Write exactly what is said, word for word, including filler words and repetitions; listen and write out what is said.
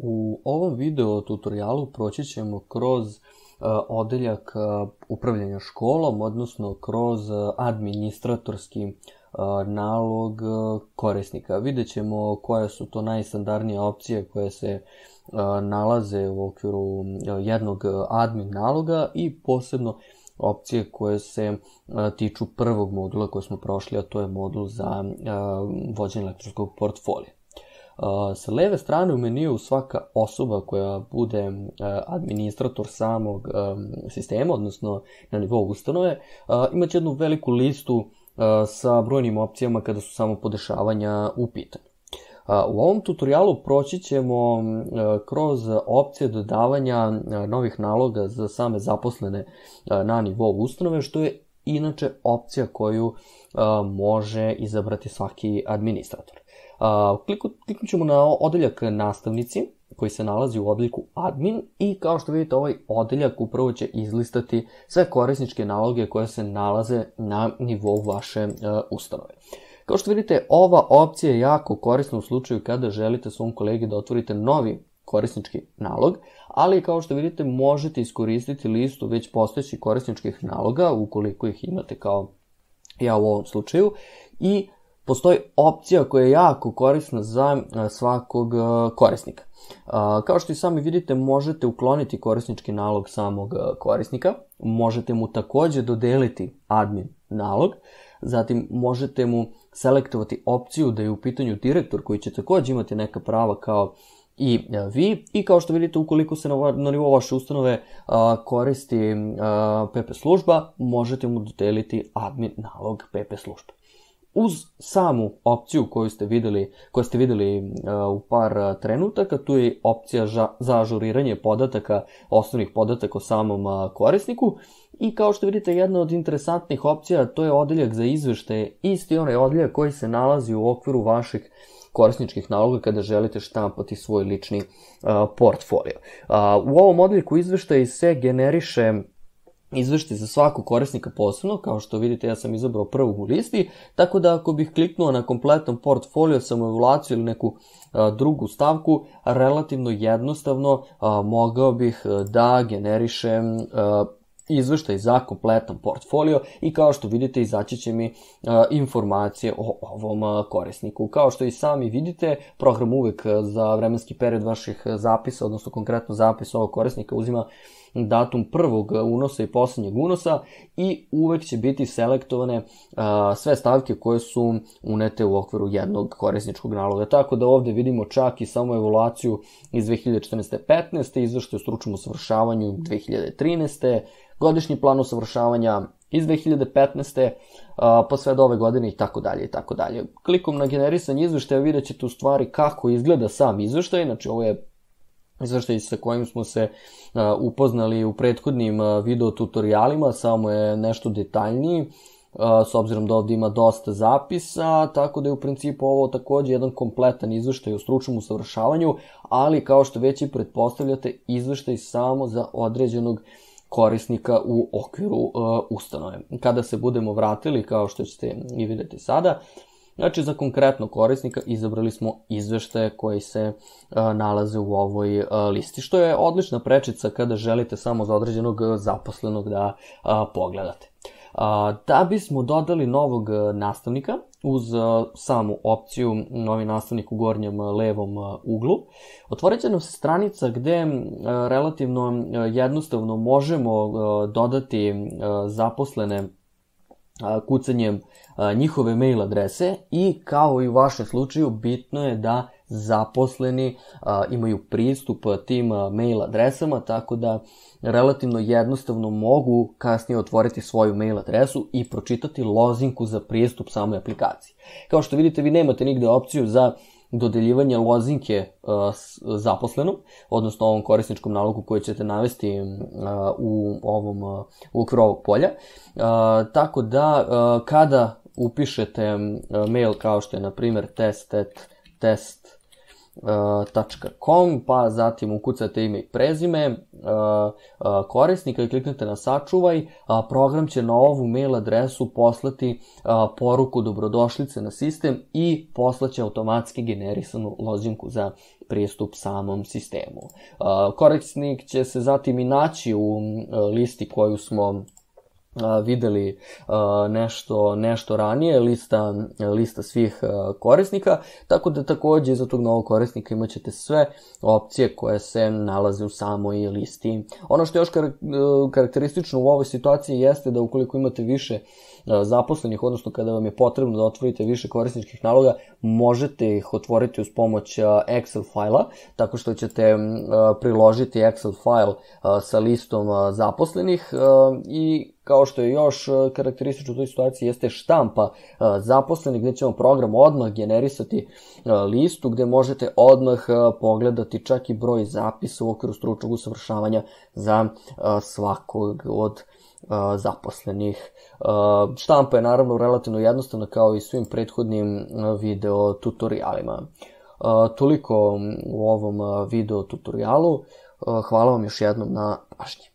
U ovom video tutorijalu proći ćemo kroz uh, odeljak uh, upravljanja školom, odnosno kroz uh, administratorski uh, nalog uh, korisnika. Vidjet ćemo koje su to najstandardnije opcije koje se uh, nalaze u okviru uh, jednog admin naloga i posebno opcije koje se uh, tiču prvog modula koji smo prošli, a to je modul za uh, vođenje elektronskog portfolija. Uh, sa leve strane u meniju svaka osoba koja bude uh, administrator samog um, sistema, odnosno na nivou ustanove, uh, imaće jednu veliku listu uh, sa brojnim opcijama kada su samo podešavanja u pitanju. Uh, u ovom tutorijalu proći ćemo uh, kroz opcije dodavanja uh, novih naloga za same zaposlene uh, na nivou ustanove, što je inače opcija koju uh, može izabrati svaki administrator. Uh, kliknut ćemo na odeljak nastavnici koji se nalazi u odeljku admin i kao što vidite ovaj odeljak upravo će izlistati sve korisničke naloge koje se nalaze na nivou vaše uh, ustanove. Kao što vidite, ova opcija je jako korisna u slučaju kada želite svom kolegi da otvorite novi korisnički nalog, ali kao što vidite možete iskoristiti listu već postojećih korisničkih naloga ukoliko ih imate kao ja u ovom slučaju i postoji opcija koja je jako korisna za svakog korisnika. Kao što i sami vidite, možete ukloniti korisnički nalog samog korisnika, možete mu također dodeliti admin nalog, zatim možete mu selektovati opciju da je u pitanju direktor koji će također imati neka prava kao i vi, i kao što vidite, ukoliko se na, na nivou vaše ustanove a, koristi a, P P služba, možete mu dodeliti admin nalog P P službe. Uz samu opciju koju ste videli, koju ste videli uh, u par trenutaka, tu je opcija ža, za ažuriranje podataka, osnovnih podataka o samom uh, korisniku. I kao što vidite, jedna od interesantnih opcija, to je odeljak za izveštaje, isti onaj odeljak koji se nalazi u okviru vaših korisničkih naloga kada želite štampati svoj lični uh, portfolio. Uh, u ovom odeljku izveštaji se generiše izveštaj za svakog korisnika posebno, kao što vidite ja sam izabrao prvog u listi, tako da ako bih kliknuo na kompletan portfolio, samoevaluaciju ili neku a, drugu stavku, relativno jednostavno a, mogao bih da generišem a, izveštaj za kompletan portfolio i kao što vidite izaći će mi a, informacije o ovom a, korisniku. Kao što i sami vidite, program uvek za vremenski period vaših zapisa, odnosno konkretno zapis ovog korisnika uzima datum prvog unosa i posljednjeg unosa i uvek će biti selektovane uh, sve stavke koje su unete u okviru jednog korisničkog naloga. Tako da ovdje vidimo čak i samo evaluaciju iz dve hiljade četrnaeste petnaeste, izveštaj o stručnom usavršavanju dve hiljade trinaeste, godišnji plan usavršavanja iz dve hiljade petnaeste uh, pa sve do ove godine i tako dalje i tako dalje. Klikom na generisanje izveštaja vidjet ćete u stvari kako izgleda sam izveštaj, znači ovo je izveštaj sa kojim smo se uh, upoznali u prethodnim uh, video tutorijalima, samo je nešto detaljniji, uh, s obzirom da ovdje ima dosta zapisa, tako da je u principu ovo također jedan kompletan izveštaj o stručnom usavršavanju, ali kao što već i pretpostavljate, izveštaj samo za određenog korisnika u okviru uh, ustanove. Kada se budemo vratili, kao što ćete i vidjeti sada, znači, za konkretno korisnika izabrali smo izveštaje koji se uh, nalaze u ovoj uh, listi, što je odlična prečica kada želite samo za određenog zaposlenog da uh, pogledate. Uh, da bismo dodali novog nastavnika uz uh, samu opciju novi nastavnik u gornjem uh, levom uh, uglu, otvorit će nam se stranica gde uh, relativno uh, jednostavno možemo uh, dodati uh, zaposlene kucanjem njihove mail adrese i kao i u vašem slučaju bitno je da zaposleni imaju pristup tim mail adresama, tako da relativno jednostavno mogu kasnije otvoriti svoju mail adresu i pročitati lozinku za pristup samoj aplikaciji. Kao što vidite, vi nemate nigde opciju za dodeljivanje lozinke uh, zaposlenom, odnosno ovom korisničkom nalogu koji ćete navesti uh, u ovom uh, u okviru ovog polja. Uh, tako da uh, kada upišete uh, mail kao što je na primjer test at test tačka com, pa zatim ukucate ime i prezime korisnika i kliknete na sačuvaj, program će na ovu mail adresu poslati poruku dobrodošlice na sistem i poslaće automatski generisanu lozinku za pristup samom sistemu. Korisnik će se zatim i naći u listi koju smo videli nešto, nešto ranije, lista, lista svih korisnika, tako da takođe iza tog novog korisnika imat ćete sve opcije koje se nalaze u samoj listi. Ono što je još karakteristično u ovoj situaciji jeste da ukoliko imate više zaposlenih, odnosno kada vam je potrebno da otvorite više korisničkih naloga, možete ih otvoriti uz pomoć Excel fajla, tako što ćete priložiti Excel fajl sa listom zaposlenih i kao što je još karakteristično u toj situaciji jeste štampa zaposlenih, gde će vam program odmah generisati listu gde možete odmah pogledati čak i broj zapisa u okviru stručnog usavršavanja za svakog od zaposlenih. Štampa je naravno relativno jednostavna kao i svim prethodnim video tutorialima. Toliko u ovom video tutorialu. Hvala vam još jednom na pažnji.